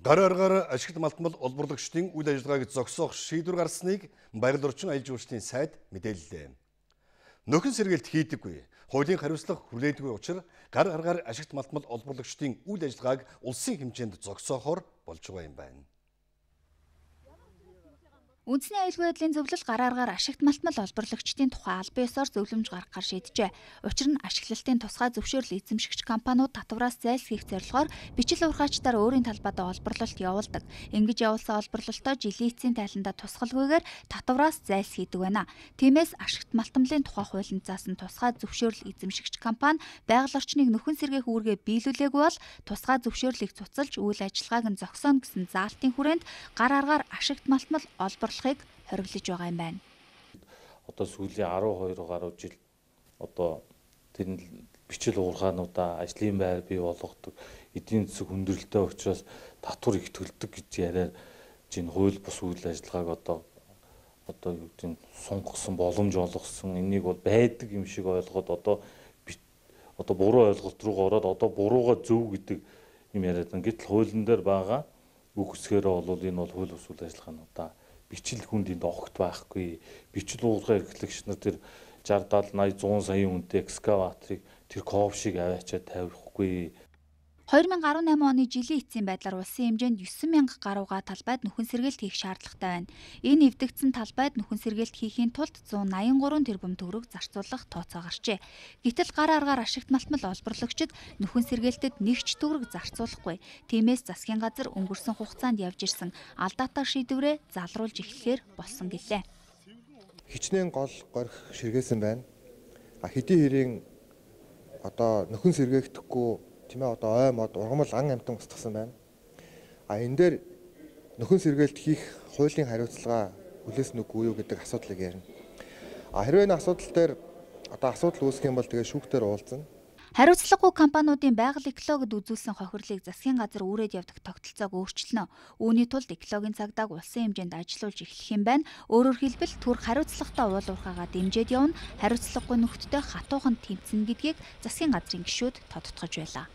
Гар аргаар ашигт малтмал олборлагчдын үйл ажиллагааг зогсоох шийдвэр гарсныг Байгаль орчин аялал жуулчлалын сайд мэдээллээ. Нөхөн сэргээлт хийдэггүй, хуулийн хариуцлага хүлээдэггүй учраас гар аргаар ашигт малтмал олборлагчдын үйл ажиллагааг улсын хэмжээнд зогсоохоор болж байгаа юм байна. Үндэсний аюулгүй байдлын зөвлөл гар аргаар ашигт малтмал олборлагчдын тухай албан ёсоор зөвлөмж гаргахаар шийджээ. Учир нь ашиглалтын тусгай зөвшөөрөл эзэмшигч компаниуд татвараас зайлсхийх зорилгоор бичил урхаачдаар өөрийн талбайдаа олборлолт явуулдаг. Ингэж явуулсан олборлолтоо жилийн эцсийн тайландаа тусгалгүйгээр татвараас зайлсхийдэг байна. Тиймээс ашигт малтмалын тухай хуулинд заасан тусгай зөвшөөрөл эзэмшигч компани байгаль орчныг нөхөн сэргээх үүргээ биелүүлээгүй бол тусгай зөвшөөрлийг цуцалж үйл ажиллагааг нь зогсооно гэсэн заалтын хүрээнд гар аргаар ашигт малтмал олборлохыг хориглож байгаа юм байна. Одоо сүүлийн 12 гаруй жил одоо тэр бичил уурхаануудаа ажлын байр бий болгодог, эдийн засаг хүндрэлтэй учраас татвар их төлдөг гэж яриад чинь хууль бус үйл ажиллагааг одоо юу гэдэг нь сунгасан боломж олгосон, энийг бол байдаг юм шиг ойлгоод одоо буруу ойлголт руу ороод одоо бурууга зөв гэдэг юм яриад байна. Гэтэл хуулийн дээр байгаа үг үсгээрээ бол энэ бол хууль бус үйл ажиллагаануудаа бичил хүнд энд огт байхгүй. Бичил уурхай эрхлэгч нар тэр 60 70 80 100 саяын үнэтэй экскаваторыг тэр ковшиг аваачаад тавихгүй. 2018 оны жилийн эцсийн байдлаар улсын хэмжээнд 9,000 гаруйга талбайд нөхөн сэргээлт хийх шаардлагатай байна. Энэ эвдэгдсэн талбайд нөхөн сэргээлт хийхийн тулд 183 тэрбум төгрөг зарцуулах тооцоо гарчээ. Гэтэл гар аргаар ашигт малтмал олборлогчид нөхөн сэргээлтэд нэг ч төгрөг зарцуулахгүй. Тиймээс засгийн газар өнгөрсөн хугацаанд явж ирсэн алдаатай шийдвэрээ залруулж эхлэхээр болсон гэлээ. Хичнээн гол горих ширгээсэн байна. Хэдий хэрийн одоо нөхөн сэргээхдэггүй одоо ой мод ургамал ан амтан устгасан байна. Энэ дээр нөхөн сэргээлт хийх хуулийн хариуцлага хүлээсэн үгүй юу гэдэг асуудлыг ярина. Хэрвээ энэ асуудал дээр асуудал үүсэх юм бол тэгээ шүүхтээр уулзна. Хариуцлагагүй компаниудын байгаль экологид үзүүлсэн хохирлыг засгийн газар үүрээд явдаг тогтолцоог өөрчилнө. Үүний тулд экологийн цагдааг улсын хэмжээнд ажиллуулж эхлэх юм байна. Өөрөөр хэлбэл түрх хариуцлагатай уул уурхайгаа дэмжиж явна. Хариуцлагагүй нөхдөдөө хатуухан тэмцэнэ гэдгийг засгийн газрын гишүүд тодтогч байлаа.